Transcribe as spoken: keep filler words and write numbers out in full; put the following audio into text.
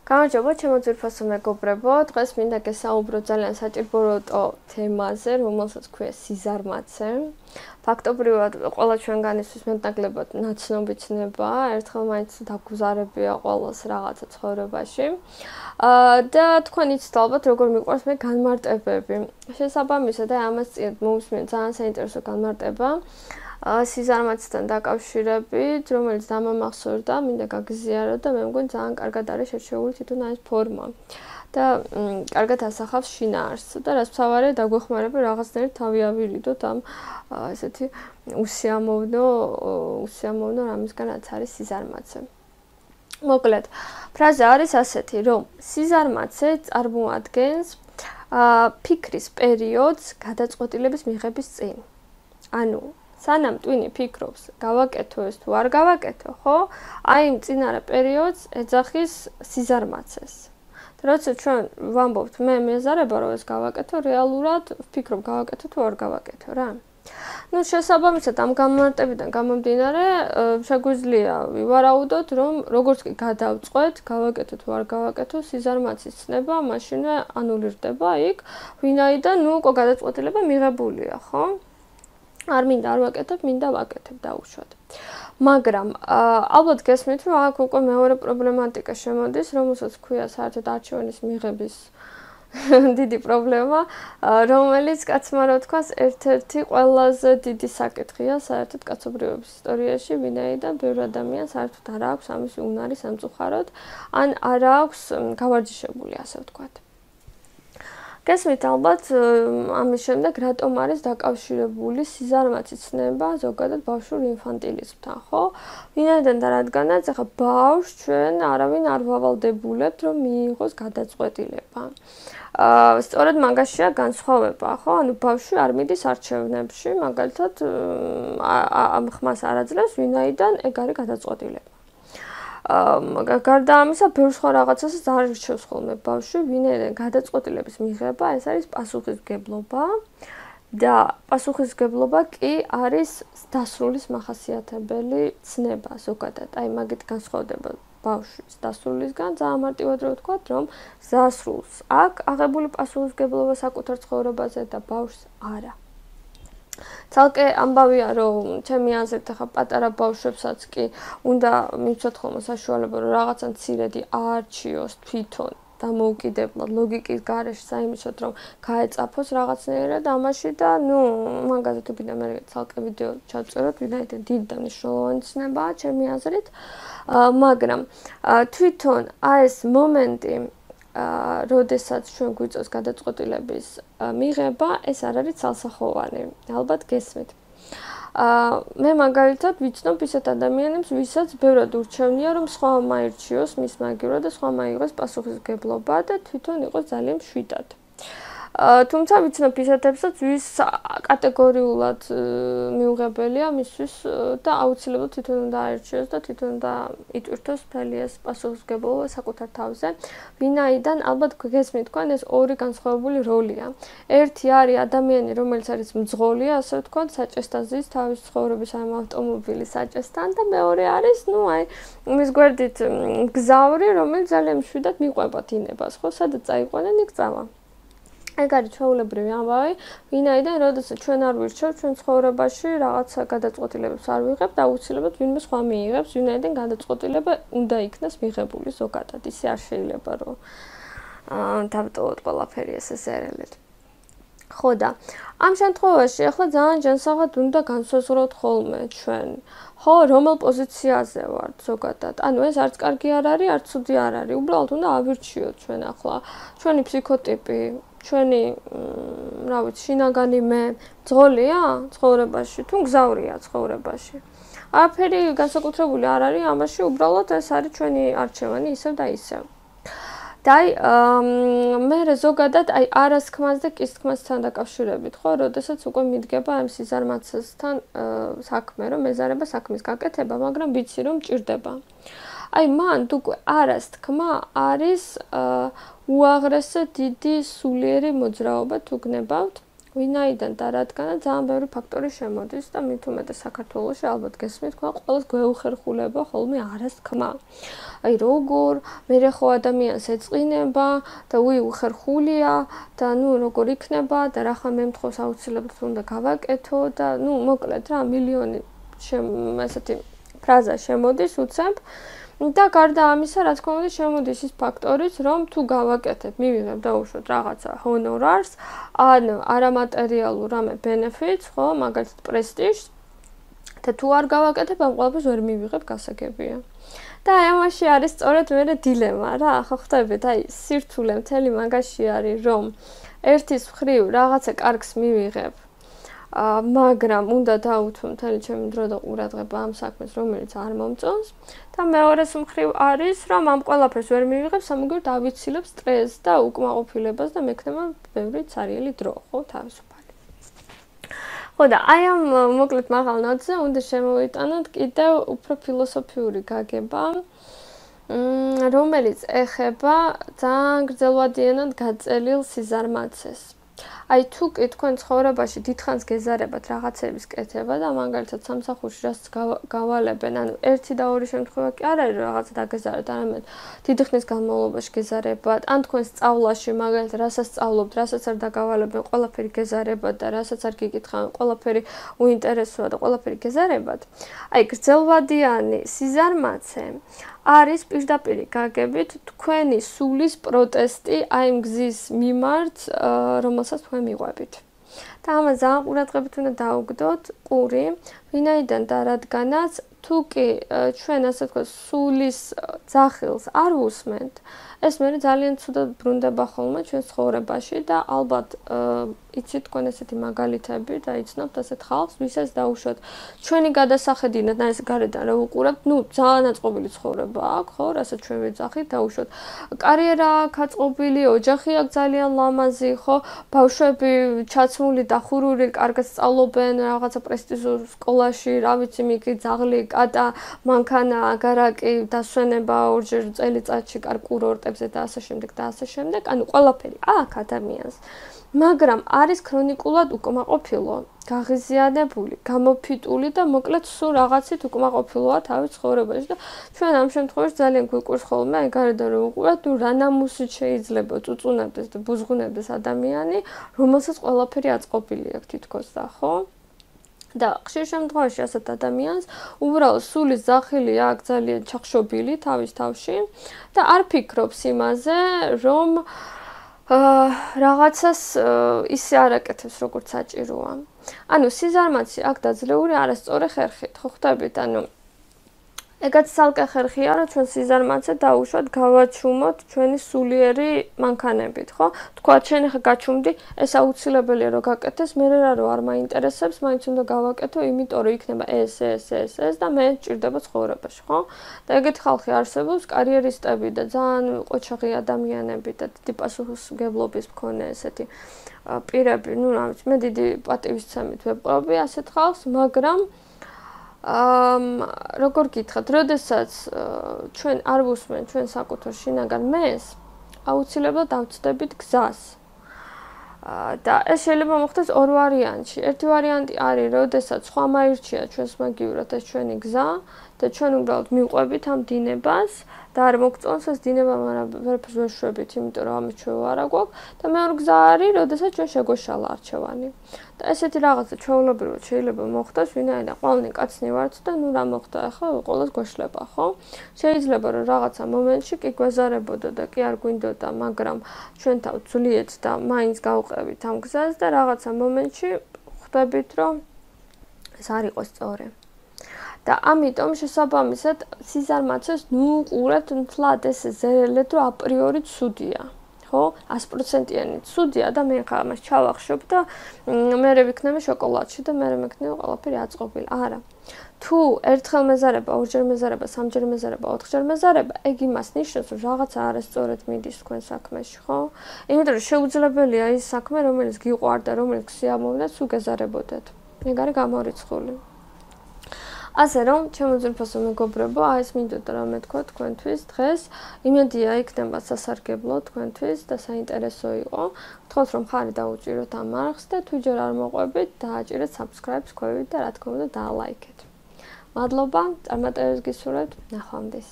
გამარჯობა, ჩემო ძვირფასო მეგობრებო. დღეს მინდა გესაუბრო ძალიან საჭიროებო თემაზე, რომელსაც ქვია სიზარმაცე. ფაქტობრივად, ყველა ჩვენგანისთვის მეტნაკლებად ნაცნობი ცნება, ერთხელ მაინც დაგუზარებია ყოველს რაღაცა ცხოვრებაში. აა და თქვენ იცით ალბათ, როგორ მიყვარს მე განმარტებები. შესაბამისად, აი ამას წინ მომსმენ ძალიან საინტერესო განმარტება. სიზარმაცთან დაკავშირებით, რომელიც დამამახსოვრდა, მინდა გაგზიარო და მე მგონი ძალიან კარგად არის შერჩეული თვითონ ეს ფორმა. და კარგად ასახავს შინაარსს და რაც მთავარია დაგვეხმარება რაღაცნაირად თავი ავირიდოთ ამ ესეთი უსიამოვნო უსიამოვნო რამისგან რაც არის სიზარმაცე. მოკლედ, ფრაზა არის ასეთი, რომ სიზარმაცე წარმოადგენს ფიქრის პერიოდს გადაწყვეტილების მიღების წინ. ანუ სანამ ტვინი ფიქრობს, გავაკეთო ეს თუ არ გავაკეთო, ხო? აი იმ წინარე პერიოდს ეძახის სიზარმაცეს. როცა ჩვენ ვამბობთ, მე მეზარება რომ ეს გავაკეთო, რეალურად ვფიქრობ, გავაკეთო თუ არ გავაკეთო რა. ნუ შესაბამისად ამ განმარტებიდან გამომდინარე, შეგვიძლია ვივარაუდოთ, რომ როგორც კი გადავწყვეტ, გავაკეთო თუ არ გავაკეთო, სიზარმაცის ცნება მაშინვე ანულირდება იქ, ვინაიდან ნუ უკვე გადაწყვეტილება მიღებულია, ხო? არ მინდა არ ვაკეთებ, მინდა ვაკეთებ დაუშვათ. მაგრამ ალბათ გესმით, რომ აქ უკვე მეორე პრობლემატიკა შემოდის, რომელსაც ქვია საერთოდ არჩევანის მიღების დიდი პრობლემა, რომელიც კაცმა რა თქვას, ერთ-ერთი ყველაზე დიდი საკითხია საერთოდ კაცობრიობის ისტორიაში, ვინაიდან ბევრი ადამიანი საერთოდ არ აქვს ამის უნარი სამწუხაროდ, ან არ აქვს გავარჯიშებული, ასე ვთქვათ. გესმით ალბათ ამის შემდეგ რატომ არის დაკავშირებული სიზარმაცის ცნება ზოგადად ბავშვურ ინფანტილიზმთან, ხო? ვინაიდან და რადგანაც ახლა ბავშვს ჩვენ არავინ არ ვავალდებულებთ, რომ მიიღოს გადაწყვეტილება. აა სწორედ მაგაშია განსხვავება, ხო? ანუ ბავშვი არ მიდის არჩევნებში, მაგალითად ამ ხმას არ აძლევს, ვინაიდან ეგ არის გადაწყვეტილება. აა გარდა ამისა, ბევრ სხვა რაღაცასაც არ რჩევს ხოლმე ბავშვი, ვინაიდან გადაწყვეტილების მიღება ეს არის პასუხისმგებლობა და პასუხისმგებლობა კი არის დასრულის მახასიათებელი ცნება ზოგადად. აი მაგით განსხვავდება ბავშვის დასრულისგან, ძალიან მარტივად რო ვთქვათ, რომ დასრულს აქვს აღებული პასუხისმგებლობა საკუთარ ცხოვრებაზე და ბავშვს არა. ცალკე ამბავია, რომ ჩემი აზრით ახლა პატარა ბავშვებსაც კი უნდა მიცოთ ხოლმე საშუალება, რომ რაღაცა მცირედი აარჩიოს თვითონ დამოუკიდებლად ლოგიკის გარეშე საიმისოდ, რომ გაეწაფოს რაღაცნაირად ამაში და ნუ მაგაზე თუ კიდე მე ცალკე ვიდეო ჩავწეროთ, ვინაიდან დიდი და მნიშვნელოვანი ცნებაა ჩემი აზრით, მაგრამ თვითონ აი ეს მომენტი აა როდესაც ჩვენ გვიწევს გადაწყვეტილების მიღება, ეს არ არის ცალსახოვანი. ალბათ გესმით. აა მე მაგალითად ვიცნობ ისეთ ადამიანებს, ვისაც ბევრად ურჩევნია, რომ სხვა მაირჩიოს მის მაგივრად და სხვა მაიღოს პასუხისმგებლობა და თვითონ იყოს ძალიან მშვიდად. თუმცა ვიცნობ ისეთებსაც, ვის კატეგორიულად მიუღებელია მისთვის და აუცილებლად თვითონ უნდა აირჩიოს და თვითონ უნდა იტვირთოს მთელი ეს პასუხისმგებლობა საკუთარ თავზე, ვინაიდან ალბათ გესმით თქვენ ეს ორი განსხვავებული როლია. ერთი არის ადამიანი, რომელიც არის მძღოლი, ასე ვთქვათ, საჭესთან ზის თავის ცხოვრების ამ ავტომობილის საჭესთან და მეორე არის, ნუ აი, მის გვერდით მგზავრი, რომელიც ძალიან მშვიდად მიყვება დინებას, ხო, სადაც წაიყვანენ, იქ წავა. ეგ არის ჩვეულებრივი ამბავი, ვინაიდან როდესაც ჩვენ არ ვირჩევთ ჩვენ ცხოვრებაში რაღაცა გადაწყვეტილებებს არ ვიღებთ, აუცილებლად ვინმე სხვა მიიღებს, ვინაიდან გადაწყვეტილება უნდა იქნას მიღებული ზოგადად, ისე არ შეიძლება რომ აა დავტოვოთ ყველაფერი ესე ზერელეთ. ხო და ამ შემთხვევაში ახლა ძალიან ჯანსაღად უნდა განსაზღვროთ ხოლმე ჩვენ, ხო, რომელ პოზიციაზე ვართ ზოგადად. ანუ ეს არც კარგი არ არის, არც ცუდი არ არის. უბრალოდ უნდა ავირჩიოთ ჩვენ ახლა ჩვენი ფსიქოტიპი, ჩვენი, რა ვიცი, შინაგანი მე მძღოლია ცხოვრებაში, თუ მგზავრია ცხოვრებაში. არაფერი განსაკუთრებული არ არის ამაში, უბრალოდ ეს არის ჩვენი არჩევანი ისევ და ისევ. და აი მე ზოგადად აი არას თქმას და კის თქმასთან დაკავშირებით, ხო, როდესაც უკვე მიდგება ამ სიზარმაცესთან საქმე, რომ მეზარება საქმის გაკეთება, მაგრამ ვიცი რომ მჭირდება. აი მან უკვე არას თქმა არის უაღრესად დიდი სულიერი მოძრაობა თუ გნებავთ, ვინაიდან და რადგანაც ძალიან ბევრი ფაქტორი შემოდის და მით უმეტეს საქართველოში ალბათ გესმით, თქვენ ყველას გვეუხერხულება ხოლმე არას თქმა. აი როგორ მე ხო ადამიანს ეწყინება და უი უხერხულია და ნუ როგორ იქნება და რა ხა მე მთხოვს აუცილებლად უნდა გავაკეთო და ნუ მოკლედ რა მილიონი ესეთი ფრაზა შემოდის უცებ და გარდა ამისა, რა თქმა უნდა, შემოდის ის ფაქტორიც, რომ თუ გავაკეთებ, მივიღებ დაუშვათ რაღაცა ჰონორარს, ან არამატერიალურ რამე ბენეფიტს, ხო, მაგალითად პრესტიჟს და თუ არ გავაკეთებ, ამ ყველაფერს ვერ მივიღებ, გასაგებია. და აი ამაში არის სწორედ მე დილემა რა, ხო ხვდებით, აი სირთულე მთელი მაგაში არის, რომ ერთის მხრივ რაღაცა კარგს მივიღებ, მაგრამ უნდა დავუთმო მთელი ჩემი დრო და ყურადღება ამ საქმეს, რომელიც არ მომწონს და მეორეს მხრივ არის, რომ ამ ყველაფერს ვერ მივიღებ, სამაგერ დავიცილებ სტრესს და უკმაყოფილებას და მექნება ბევრი ცარიელი დრო, ხო, თავისუფალი. ხო და აი ამ მოკლედ მაღალ ნოტზე უნდა შემოვიტანოთ კიდევ უფრო ფილოსოფიური გაგება, რომელიც ეხება ძალიან გრძელვადიანად გაწელილ სიზარმაცეს. აი თუ კი თქვენ ცხოვრებაში დიდხანს გეზარებათ რაღაცების კეთება და მაგალითად სამსახურში რაც გავალებენ, ანუ ერთი და ორი შემთხვევა კი არ არის რაღაცა დაგეზარეთ, არამედ დიდი ხნის განმავლობაში გეზარებათ, ან თქვენ სწავლაში მაგალითად რასაც სწავლობთ, რასაც არ დაგავალებენ, ყველაფერი გეზარებათ და რასაც არ გიკითხავენ, ყველაფერი უინტერესოა და ყველაფერი გეზარებათ. აი გრძელვადიანი სიზარმაცე არის პირდაპირ გაგებით თქვენი სულის პროტესტი აი ამ გზის მიმართ, რომელსაც თქვენ მიყვებით. და ამას ძალიან ყურადღებით უნდა დაუგდოთ ყური, ვინაიდან და რადგანაც თუ კი ჩვენ ასე ვთქვათ სულის ძახილს არ ვუსმენთ, ეს მე ძალიან ცუდად ბრუნდება ხოლმე ჩვენ ცხოვრებაში და ალბათ იცით თქვენ ესეთი მაგალითები და იცნობთ ასეთ ხალხს, ვისაც დაუშვათ ჩვენი გადასახედინად და ეს გარედან რა უყურებთ, ნუ ძალიან აწყობილი ცხოვრება აქვს, ხო, რასაც ჩვენ ვეძახით, დაუშვათ კარიერა აქვს აწყობილი, ოჯახი აქვს ძალიან ლამაზი, ხო, ბავშვები ჩაცმული, დახურული, კარგად სწავლობენ რაღაცა პრესტიჟურ სკოლაში, რა ვიცი, მიკი ძაღლი, კატა, მანქანა, აგარაკი, დასვენება ორჯერ წელიწადში კარგ კურორტებზე და ასე შემდეგ და ასე შემდეგ, ანუ ყველაფერი აქვს ადამიანს. მაგრამ არის ქრონიკულად უკმაყოფილო, გაღიზიანებული, გამოფიტული და მოკლედ სულ რაღაცით უკმაყოფილოა თავის ცხოვრებაში და ჩვენ ამ შემთხვევაში ძალიან გვიყვარს ხოლმე აი გარედან რომ უყურებთ, ნუ რა ნამუსით შეიძლება წუწუნებდეს და ბუზღუნებდეს ადამიანი, რომელსაც ყველაფერი აწყობილი აქვს თითქოს და ხო? და ხშირ შემთხვევაში ასეთ ადამიანს უბრალოდ სულის ძახილი აქვს ძალიან ჩახშობილი თავის თავში და არ ფიქრობს იმაზე, რომ რაღაცას ისე არ აკეთებს, როგორც საჭიროა. ანუ სიზარმაცე აქ დაძლეული არასწორი ხერხით, ხო ხვდებით, ანუ ეგაც ცალკე ხერხია, რომ ჩვენ სიზარმაცე დაუშვათ გავაჩუმოთ ჩვენი სულიერი მანქანებით, ხო? თქვა შენ ხა გაჩუმდი, ეს აუცილებელია რომ გაკეთდეს, მე რა რო არ მაინტერესებს, მაინც უნდა გავაკეთო, იმიტომ რომ იქნება ეს, ეს, ეს, ეს და მე ჭირდება ცხოვრებაში, ხო? და ეგეთი ხალხი არსებობს, კარიერისტები და ძალიან ყოჩაღი ადამიანები და დიდი პასუხისმგებლობის მქონე ესეთი პირები, ნუ რა ვიცი, მე დიდი პატივისცემით ვეპყრობი ასეთ ხალხს, მაგრამ ამ როგორ გითხრათ, როდესაც ჩვენ არ ვუსმენთ ჩვენ საკუთარ შინაგან მეს, აუცილებლად ავწდებით გზას. და ეს შეიძლება მოხდეს ორ ვარიანტში. ერთი ვარიანტი არის, როდესაც სხვა მაირჩია ჩვენს მაგივრად ეს ჩვენი გზა და ჩვენ უბრალოდ მივყვებით ამ დინებას და არ მოგწონს ეს დინება, მაგრამ ვერაფერს ვერ შვებით, იმიტომ რომ ამის ჩვევა არ გვაქვს და მეორე გზა არის, როდესაც ჩვენ შეგვეშალა არჩევანი. და ესეთი რაღაცა ჩვეულებრივად შეიძლება მოხდეს, ვინაიდან ყველანი კაცნი ვართ და ნუ რა მოხდა, ახლა ყველას გვეშლება, ხო? შეიძლება რომ რაღაცა მომენტში კი გვეზარებოდა და კი არ გვინდოდა, მაგრამ ჩვენ თავ ძვლიეთ და მაინც გავყევით ამ გზას და რაღაცა მომენტში ხვდებით, რომ ეს არ იყო სწორი. და ამიტომ შესაბამისად სიზარმაცეს ნუ ყურებთ მთლად ეს ზერელეთ, რომ აპრიორი ცუდია. ხო, ას პროცენტიანი ცუდია და მე ხა ამას ჩავახშობ და მე ვიქნები შოკოლადში და მე მექნები ყველაფერი აწყობილი. არა. თუ ერთხელ მეზარება, ორჯერ მეზარება, სამჯერ მეზარება, ოთხჯერ მეზარება, ეგ იმას ნიშნავს, რომ რაღაცა არასწორად მიდის თქვენ საქმეში, ხო? იმიტომ რომ შეუძლებელია ის საქმე, რომელიც გიყვარდა, რომელიც გსიამოვნებდა, თუ გეზარებოდეთ. ეგ არის გამორიცხული. ასე რომ, ჩემო ძვირფასო მეგობრებო, აი ეს მინდოდა რომ მეთქვა თქვენთვის დღეს. იმედია იქნება სასარგებლო თქვენთვის და საინტერესო იყო. ვთქვათ რომ ხარი დაუჭიროთ ამ არხს და თუ ჯერ არ მოყვებით, დააჭირეთ subscribe-ს ქვევით და რა თქმა უნდა დაალაიქეთ. მადლობა, წარმატებებს გისურვებთ, ნახვამდის.